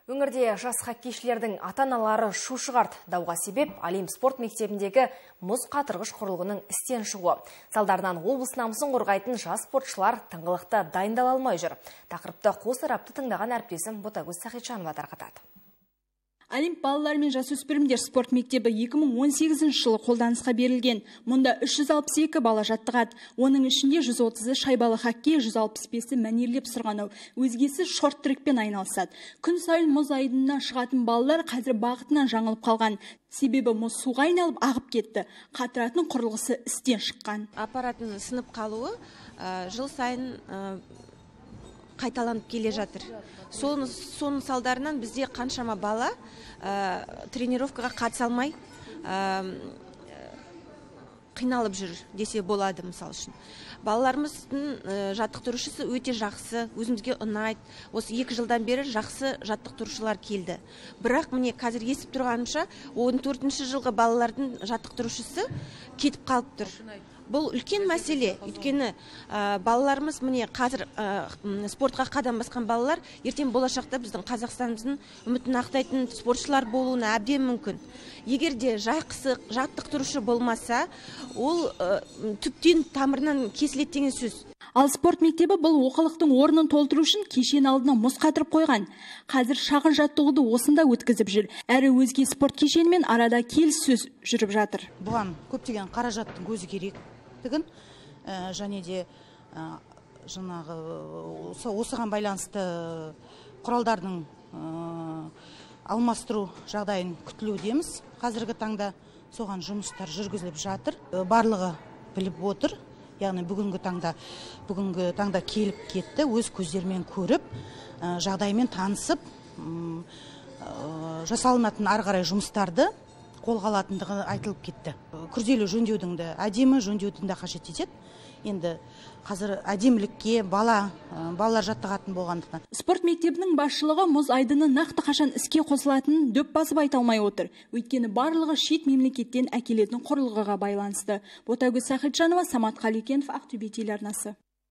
Өңірде жас хоккейшілердің ата-аналары шу шығарды. Дауға себеп Олимп спорт мектебіндегі мұз қатырғыш құрылғының істен шығуы. Салдарынан облыс намысын қорғайтын жас спортшылар тыңғылықты дайындала алмай жүр. Тақырыпты қос тарапты тыңдаған әріптесім Ботагөз Сахитжанова тарқатады. Олимп балалар мен жасөспірімдер спорт мектебі 2018 жылы қолданысқа берілген. Мұнда 362 бала жаттығады. Оның ішінде 130-ы шайбалы хоккей, 165-і мәнерлеп сырғанау, өзгесі шорт-трекпен айналысады. Күн сайын мұз айдынына шығатын балалар қазір бағытынан жаңылып қалған. Себебі мұз суға айналып ағып кетті. Қатыратын құрылғысы істен шыққан. Аппараттың сынып қалуы жыл сайын қайталанып келе жатыр. Соның салдарынан бізде қаншама бала тренировкаға қатыса алмай қиналып жүр десе болады, мысал үшін. Балаларымыздың жаттықтырушысы өте жақсы, өзімізге ұнайды. Осы 2 жылдан бері жақсы жаттықтырушылар келді. Бірақ міне қазір естіп тұрғанымша 14-ші жылғы балалардың жаттықтырушысы кетіп қалып тұр. Бұл үлкен мәселе. Өйткені балаларымыз міне қазір спортқа қадам басқан балалар ертең болашақта біздің Қазақстанымыздың үмітін ақтайтын спортшылар болуына әбден мүмкін. Егер де жақсы жаттықтырушы болмаса, ол түптен тамырынан кесіледі деген сөз. Ал спорт мектебі бұл оқылықтың орнын толтыру үшін кешен алдына мұз қатырып қойған. Қазір шағын жаттығуды осында өткізіп жүр. Әрі өзге спорт кешенімен арада келіссөз жүріп жатыр. Бұған көптеген қаражаттың көзі керек. Және де жаңағы осыған байланысты құралдардың алмастыру жағдайын күтілудеміз. Қазіргі таңда соған жұмыстар жүргізіліп жатыр. Барлығы біліп отыр. Яғни бүгінгі таңда келіп кетті, өз көздерімен көріп, жағдаймен танысып, жасалынатын ары қарай жұмыстарды қолға алатындығы айтылып кетті. Күрделі жөндеудің де, әдемі жөндеудің де қажет етеді. Енді қазір әдемілікке балалар жаттығатын болғандықтан. Спорт мектебінің басшылығы мұз айдыны нақты қашан іске қосылатынын дөп басып айта алмай отыр. Өйткені барлығы шет мемлекеттен әкелетін құрылғыға байланысты. Ботагөз Сахитжанова, Самат Қалекенов, Ақтөбе телеарнасы.